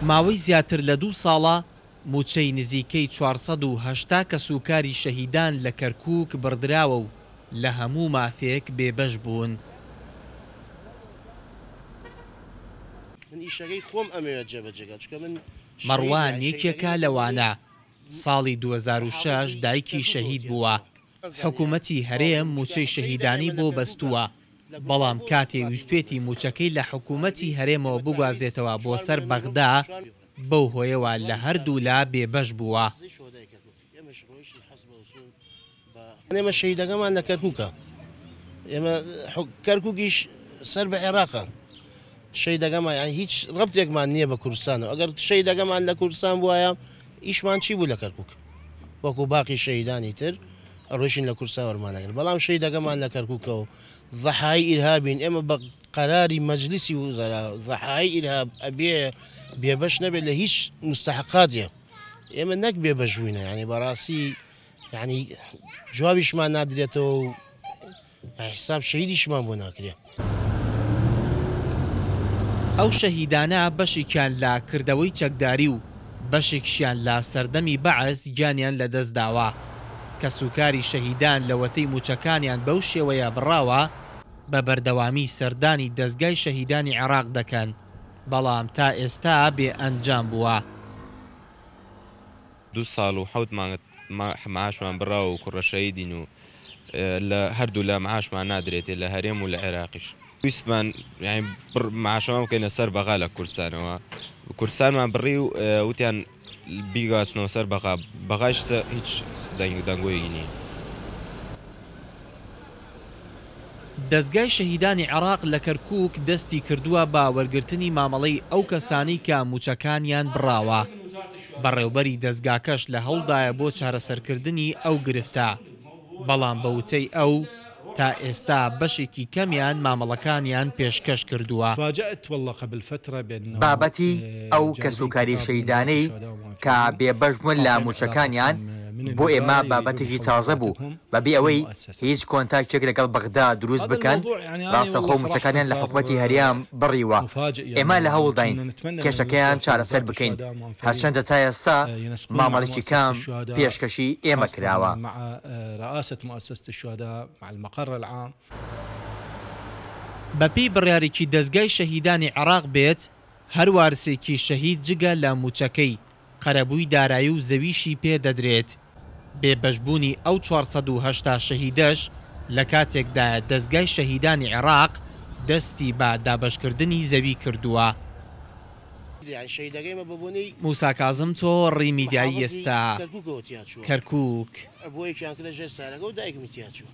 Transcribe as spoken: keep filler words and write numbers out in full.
ماوەی زیاتر لە دوو ساڵە مووچەی نزیکەی چوار سەد و هەشتا کەسوکاری شەهیدان لە کەرکووک بڕدراوە و لە هەموو مافێک بێبەش بوون. مەڕوان یەکێکە لەوانە، ساڵی دوو هەزار و شەش دایکی شەهید بووە، حکوومەتی هەرێم مووچەی شەهیدانی بۆ بەستووە، بەڵام کاتێ ویستوێتی مووچەکەی لە حکوومەتی هەرێمەوە بگوازێتەوە بۆ سەر بەغدا، بەو هۆیەوە لە هەردوو لا بێبەش بووە. ئێمە شەهیدەکەمان لە کەرکووکە، ئێمە کەرکووکیش سەر بە عێراقە، شەهیدەکەمان یان هیچ ڕەبتێکمان نییە بە کوردستانەوە. ئەگەر شەهیدەکەمان لە کوردستان بوایە ئیشمان چی بوو لە کەرکووک؟ وەکو باقی شەهیدانی تر ڕۆیشتین لە کوردستان وەرمانەگرت، بەڵام شەهیدەکەمان لە کەرکووکە و ضحای ئیرهابین. ئێمە بە قەراری مەجلیسی وزەرا ضحای ئیرهاب ئەبێ بێبەش نەبێت لە هیچ مستحقاتێ. ئێمە نەک بێبەش بووینە، یعنی بەڕاستی یعنی جوابیشمان نادرێتەوە و حساب شەهیدیشمان بۆ ناکرێت. ئەو شەهیدانە بەشێکیان لە کردەوەی چەکداری و بەشێکشیان لە سەردەمی بەعس گیانیان لەدەستداوە. کەسوکاری شەهیدان لەوەتەی موچەکانیان بەو شێوەیە بڕاوە بە بەردەوامی سەردانی دەستگای شەهیدانی عێراق دەکەن، بەڵام تا ئێستا بێ ئەنجام بووە. دوو ساڵ و حەوت مانگ معاشمان بڕاوە و کوڕە شەهیدین و لە هەردوو لە معاشمان نادرێتێ لە هەرێم و لە عێراقیش. ویستمان معاشەمان بکەینە سەر بەغا لە کوردستانەوە، کوردستانمان بڕی و وتیان بیگواستنەوە سەر بەغا، بەغاش هیچ دەنگۆیەکی نییە. دەستگای شەهیدانی عێراق لە کەرکووک دەستی کردووە بە وەرگرتنی مامەڵەی ئەو کەسانەی کە موچەکانیان بڕاوە. بەڕێوبەری دەستگاکەش لە هەوڵدایە بۆ چارەسەرکردنی ئەو گرفتە، بەڵام بە وتەی ئەو تا ئێستا بەشێکی کەمیان مامەڵەکانیان پێشکەش کردووە. بابەتی ئەو کەسوکاری شەهیدانەی کە بێبەش بوون لە موچەکانیان بۆ ئێمە بابەتێکی تازە بوو، بەبێ ئەوەی هیچ کۆنتاکتێک لەگەڵ بەغدا دروست بکەن ڕاستەخۆ موچەکانیان لە حکوومەتی هەرێم بڕیوە. ئێمە لە هەوڵداین کێشەکەیان چارەسەر بکەین، هەرچەندە تا ئێستا مامەڵێکی کەم پێشکەشی ئێمە کراوە. بەپێی بڕیارێکی دەستگای شەهیدانی عێراق بێت، هەر وارسێکی شەهید جگە لە موچەکەی قەرەبووی دارایی و زەویشی پێ دەدرێت. بێبەشبوونی ئەو چوار سەد و هەشتا شەهیدەش لە کاتێکدایە دەستگای شەهیدانی عێراق دەستی بە دابەشکردنی زەوی کردووە. موسا کازم، تۆڕی میدیایی ئێستا، کەرکووک. بۆ یەکیان کردە ژێر سارەکە و دایکمی تیا چوو.